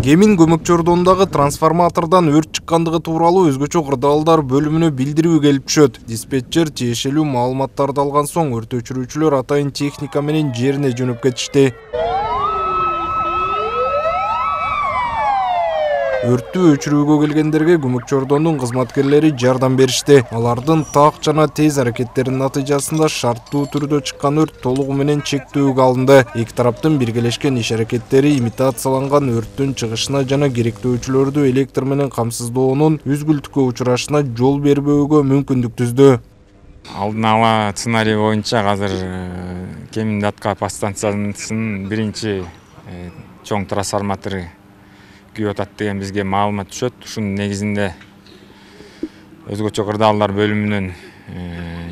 Кемин көмөкчү ордондагы трансформатордон өрт чыккандыгы тууралуу өзгөчө кырдаалдар бөлүмүнө билдирүү келип түшөт. Диспетчер тиешелүү маалыматтарды алган соң өрт өчүрүүчүлөр атайын техника менен жерине жөнөп кетишти. Өрттү өчүрүүгө келгендерге көмөкчү ордондун кызматкерлери жардам беришти. Алардын так жана тез аракеттеринин натыйжасында шарттуу түрдө чыккан өрт толугу менен чектөөгө алынды. Эки тараптын биргелешкен иш аракеттери имитацияланган өрттүн чыгышына жана керектөөчүлөрдү электр менен камсыздоонун үзгүлтүккө учурашына жол бербөөгө мүмкүндүк түздү. Алдын ала сценарий боюнча азыр Кемин датка подстанциясынын биринчи чоң трансформатору күйүп атат деген бизге маалымат түшөт. Ушунун негизинде өзгөчө кырдаалдар бөлүмүнөн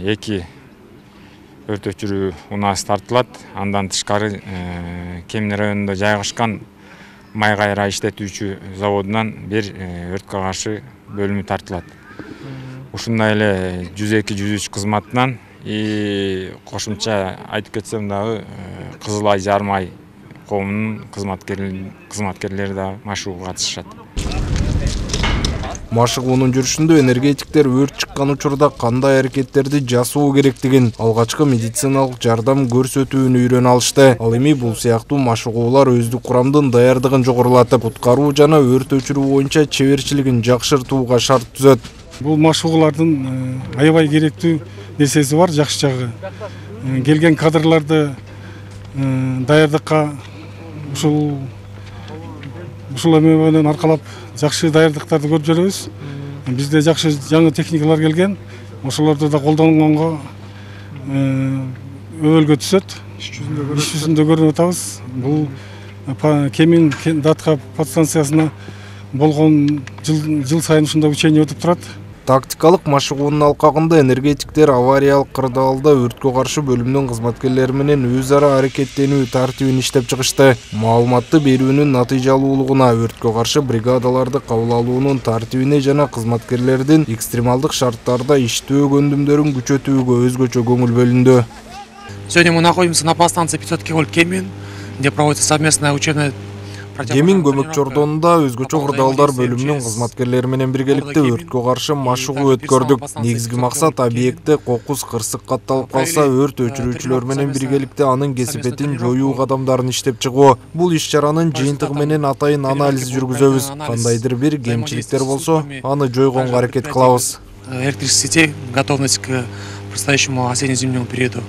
2 өрт өчүрүү унаасы тартылат. Андан тышкары Кемин районунда жайгашкан май кайра иштетүүчү заводунан бир өрткө каршы бөлүмү тартылат. Ушундай эле 102-103 кызматынан кошумча айтып кетсем дагы Кызыл Ай Жарым Ай коомунун кызматкерлери да машыгууга катышышат. Машыгуунун жүрүшүндө энергетиктер өрт чыккан учурда кандай аракеттерди жасоо керектигин, алгачкы медициналык жардам көрсөтүүнү үйрөнүп алышты. Ал эми бул сыяктуу машыгуулар өздүк курамдын даярдыгын жогорулатып, куткаруу жана өрт өчүрүү боюнча чеберчилигин жакшыртууга шарт түзөт. Бул машыгуулардын аябай керектүү нерсеси бар, жакшы жагы. Келген кадрларды даярдыкка ушул эме менен аркалап жакшы даярдыктарды көрүп жүрөбүз. Бизде жакшы жаңы техникалар келген. Ошолорду да колдонгонго өбөлгө түшөт. Иш жүзүндө көрүп атабыз. Бул Кемин датка подстанциясына болгон жыл сайын ушундай учение өтүп турат. Тактикалык машыгуунун алкагында энергетиктер авариялык кырдаалда өрткө каршы бөлүмүнүн кызматкерлери менен өз ара аракеттенүү тартибин иштеп чыгышты. Маалыматты берүүнүн натыйжалуулугуна, өрткө каршы бригадаларды кабыл алуунун тартибине жана кызматкерлердин экстремалдык шарттарда иштөө көндүмдөрүн күчөтүүгө өзгөчө көңүл бөлүндү. Сегодня мы находимся на подстанции 500 киловольт Кемин, где проводится совместное учебное. Кемин көмөкчү ордонунда өзгөчө кырдаалдар бөлүмүнүн кызматкерлери менен биргеликте өрткө каршы машыгуу өткөрдүк. Негизги максат объектте кокус кырсык катталып калса, өрт өчүрүүчүлөр менен биргеликте анын кесипетин жоюу кадамдарын иштеп чыгуу. Бул иш-чаранын жыйынтыгы менен атайын анализ жүргүзөбүз. Кандайдыр бир кемчиликтер болсо, аны жойгонго аракет кылабыз. Электрических сетей, готовность к предстоящему осенне-зимнему периоду.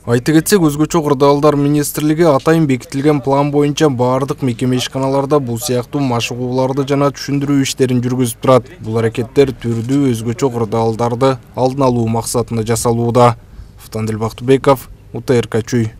Айта кетсек, өзгөчө кырдаалдар министрлиги атайын бекитилген план боюнча баардык мекеме ишканаларда бул сыяктуу машыгууларды жана түшүндүрүү иштерин жүргүзүп турат. Бул аракеттер түрдүү өзгөчө кырдаалдарды алдын алуу максатында жасалууда. Фтандил Бактыбеков, УТРК Чүй.